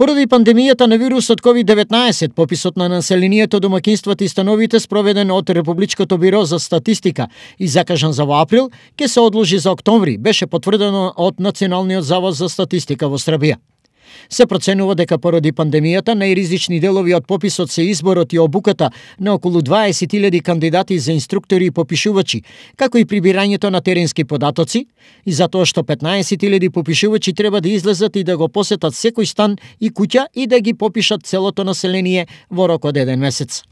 Поради пандемијата на вирусот COVID-19, пописот на населението, домаќинствата и становите спроведен од Републичкото биро за статистика и закажан за во април, ќе се одложи за октомври, беше потврдено од Националниот завод за статистика во Србија. Се проценува дека поради пандемијата најризични делови од пописот се изборот и обуката на околу 20.000 кандидати за инструктори и попишувачи, како и прибирањето на теренски податоци, и затоа што 15.000 попишувачи треба да излезат и да го посетат секој стан и куќа и да ги попишат целото население во рок од 1 месец.